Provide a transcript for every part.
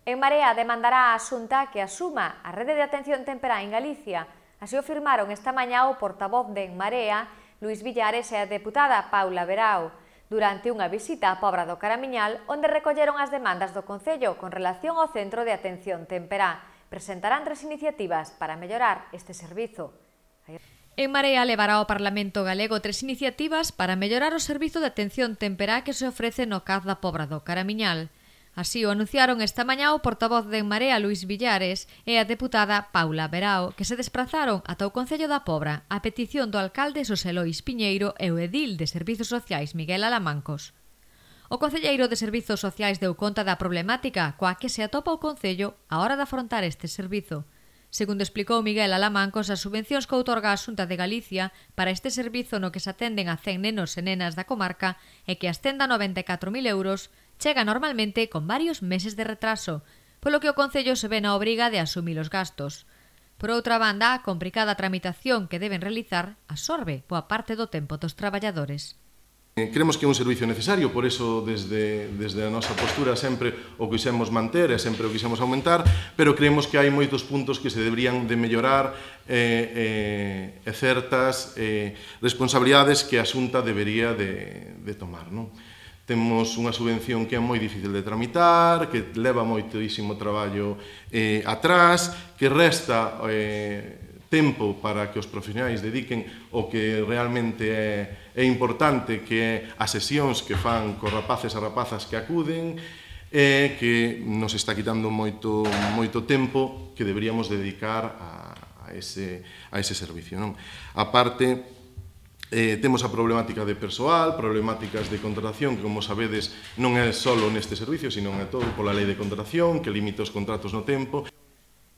En Marea demandará a Xunta que asuma a rede de atención temperá en Galicia. Así o firmaron esta mañá o portavoz de En Marea, Luís Villares, e a deputada Paula Verao, durante unha visita á Pobra do Caramiñal, onde recolleron as demandas do Concello con relación ao Centro de Atención Temperá. Presentarán 3 iniciativas para mellorar este servizo. En Marea levará ao Parlamento galego 3 iniciativas para mellorar o servizo de atención temperá que se ofrece no CAZ da Pobra do Caramiñal. Así o anunciaron esta mañá o portavoz de En Marea, Luís Villares, e a deputada Paula Verao, que se desprazaron ata o Concello da Pobra a petición do alcalde Xosé Lois Piñeiro e o edil de Servizos Sociais Miguel Alamancos. O concelleiro de Servizos Sociais deu conta da problemática coa que se atopa o Concello á hora de afrontar este servizo. Segundo explicou Miguel Alamancos, as subvencións que outorga a Xunta de Galicia para este servizo no que se atenden a 100 nenos e nenas da comarca e que ascenda a 94.000 euros, chega normalmente con varios meses de retraso, polo que o Concello se ve na obriga de asumir os gastos. Por outra banda, a complicada tramitación que deben realizar absorbe boa parte do tempo dos traballadores. Creemos que é un servicio necesario, por eso desde a nosa postura sempre o quixemos manter e sempre o quixemos aumentar, pero creemos que hai moitos puntos que se deberían de mellorar e certas responsabilidades que a Xunta debería de tomar, non? Temos unha subvención que é moi difícil de tramitar, que leva moitísimo traballo atrás, que resta tempo para que os profesionais dediquen o que realmente é importante, que é as sesións que fan cos rapaces e rapazas que acuden, e que nos está quitando moito tempo que deberíamos dedicar a ese servicio, non? A parte, temos a problemática de persoal, problemáticas de contratación, que, como sabedes, non é só neste servicio, sino é todo pola lei de contratación, que limita os contratos no tempo.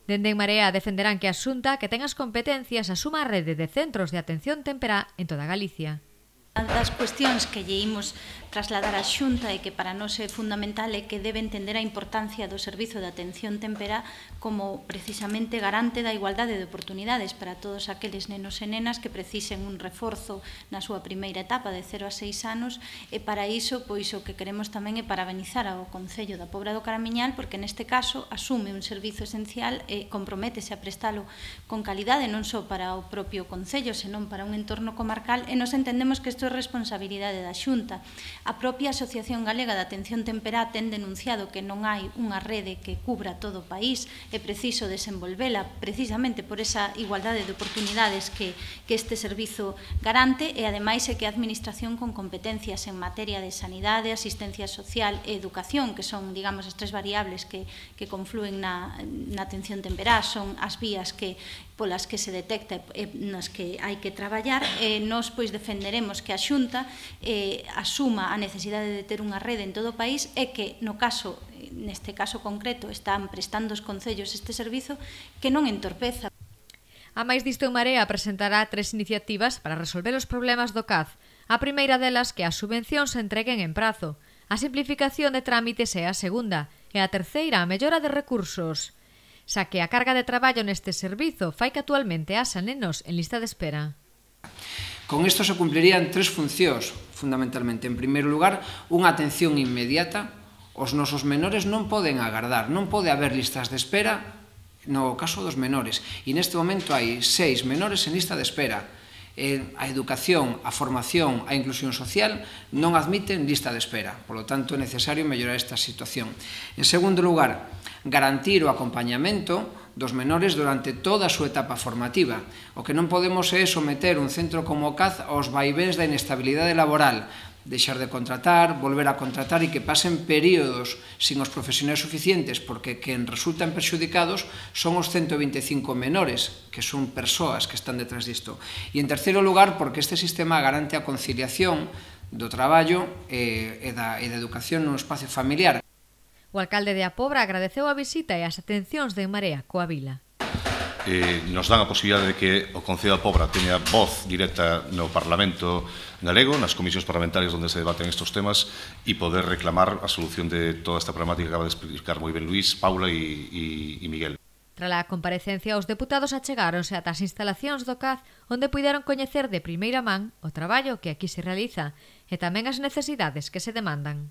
Dende En Marea defenderán que a Xunta, que ten as competencias, asuma a rede de centros de atención temperá en toda Galicia. Unha das cuestións que lle imos trasladar á Xunta e que para nós é fundamental é que debe entender a importancia do servizo de atención temperá como precisamente garante da igualdade de oportunidades para todos aqueles nenos e nenas que precisen un reforzo na súa primeira etapa de 0 a 6 anos, e para iso pois o que queremos tamén é parabenizar ao Concello da Pobra do Caramiñal, porque neste caso asume un servizo esencial e comprométese a prestalo con calidade non só para o propio Concello, senón para un entorno comarcal, e nos entendemos que isto é responsabilidade da Xunta. A propia Asociación Galega de Atención Temperá ten denunciado que non hai unha rede que cubra todo o país, é preciso desenvolvela precisamente por esa igualdade de oportunidades que este servizo garante, e ademais é que a Administración con competencias en materia de sanidade, asistencia social e educación, que son, digamos, as 3 variables que confluen na atención temperá, son as vías polas que se detecta e nas que hai que traballar, e nós pois defenderemos que a Xunta asuma a necesidade de ter unha rede en todo o país, e que neste caso concreto están prestando os concellos este servizo, que non entorpeza. A máis disto, En Marea presentará 3 iniciativas para resolver os problemas do CAZ. A primeira delas, que as subvencións se entreguen en prazo. A simplificación de trámites é a segunda, e a terceira, a mellora de recursos, xa que a carga de traballo neste servizo fai que actualmente haxa nenos en lista de espera. Con isto se cumplirían 3 funcións, fundamentalmente. En primeiro lugar, unha atención inmediata. Os nosos menores non poden agardar, non pode haber listas de espera no caso dos menores. E neste momento hai 6 menores en lista de espera. A educación, a formación, a inclusión social non admiten lista de espera. Por lo tanto, é necesario mellorar esta situación. En segundo lugar, garantir o acompañamento dos menores durante toda a súa etapa formativa. O que non podemos é someter un centro como o CAZ aos vaivéns da inestabilidade laboral, deixar de contratar, volver a contratar, e que pasen períodos sin os profesionais suficientes, porque quen resultan perxudicados son os 125 menores, que son persoas que están detrás disto. E en terceiro lugar, porque este sistema garante a conciliación do traballo e da educación no espacio familiar. O alcalde de A Pobra agradeceu a visita e as atencións de En Marea coa vila. Nos dan a posibilidade de que o Concello da Pobra teña voz directa no Parlamento galego, nas comisións parlamentarias onde se debaten estes temas, e poder reclamar a solución de toda esta problemática que acaba de explicar moi ben Luís, Paula e Miguel. Tras a comparecencia, os deputados achegáronse ata as instalacións do CAZ, onde puideron coñecer de primeira man o traballo que aquí se realiza e tamén as necesidades que se demandan.